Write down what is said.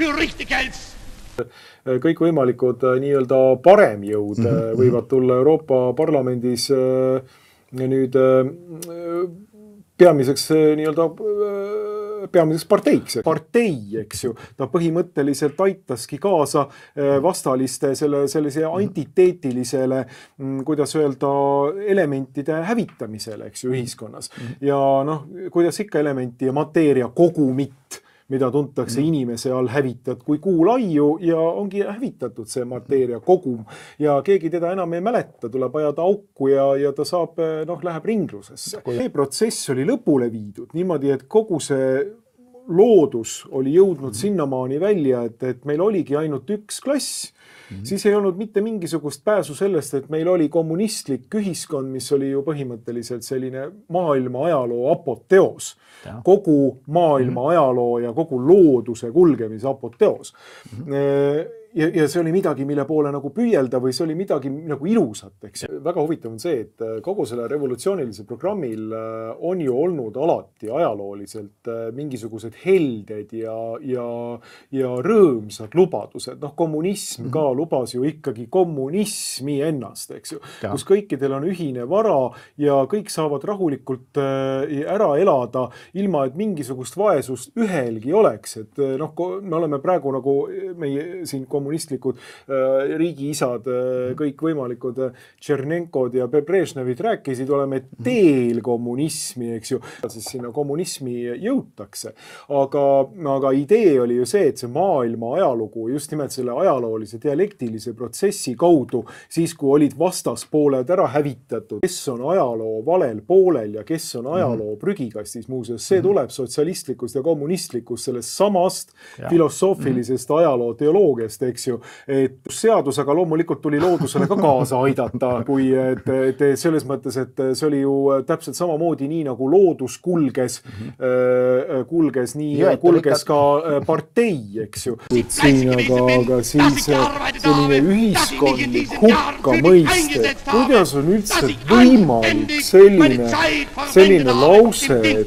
für richtig hältst. Kõikvõimalikud nii-öelda paremjõud võivad tulla Euroopa Parlamendis nüüd peamiseks parteiks. Partei, eks ju, ta põhimõtteliselt aitaski kaasa vastaliste sellise antiteetilisele, kuidas öelda, elementide hävitamisele, eks ju, ühiskonnas. Ja noh, kuidas ikka elementi ja mateeria kogumit, mida tuntakse inimese all hävitad kui kuulaiu ja ongi hävitatud see mateeria kogum ja keegi teda enam ei mäleta, tuleb ajada auku ja ta saab, läheb ringlusesse. See protsess oli lõpule viidud niimoodi, et kogu see loodus oli jõudnud sinnamaani välja, et meil oligi ainult üks klass. Siis ei olnud mitte mingisugust pääsu sellest, et meil oli kommunistlik ühiskond, mis oli ju põhimõtteliselt selline maailma ajaloo apoteos. Kogu maailma ajaloo ja kogu looduse kulgemise apoteos. Ja see oli midagi, mille poole nagu püüelda või see oli midagi nagu ilusat. Eks. Väga huvitav on see, et kogu selle revolutsioonilise programmil on ju olnud alati ajalooliselt mingisugused helded ja rõõmsad lubadused. Kommunism ka lubas ju ikkagi kommunismi ennast, eks ju, kus kõikidel on ühine vara ja kõik saavad rahulikult ära elada, ilma et mingisugust vaesust ühelgi oleks. Et me oleme praegu nagu meie siin kommunistlikud riigiisad, kõik võimalikud Tšernenkod ja Brežnevid rääkisid, oleme teel kommunismi, eks ju, siis sinna kommunismi jõutakse. Aga idee oli ju see, et see maailma ajalugu just nimelt selle ajaloolise dialektilise protsessi kaudu, siis kui olid vastaspooled ära hävitatud, kes on ajaloo valel poolel ja kes on ajaloo prügikastis, muuseas, see tuleb sotsialistlikust ja kommunistlikust sellest samast filosoofilisest ajaloo teoloogiast, eks ju, et seadus, aga loomulikult tuli loodusele ka kaasa aidata, kui et selles mõttes, et see oli ju täpselt samamoodi nii, nagu loodus kulges ka partei, eks ju. Aga siis selline ühiskondlik hukka mõiste, kuidas on üldse võimalik selline lause, et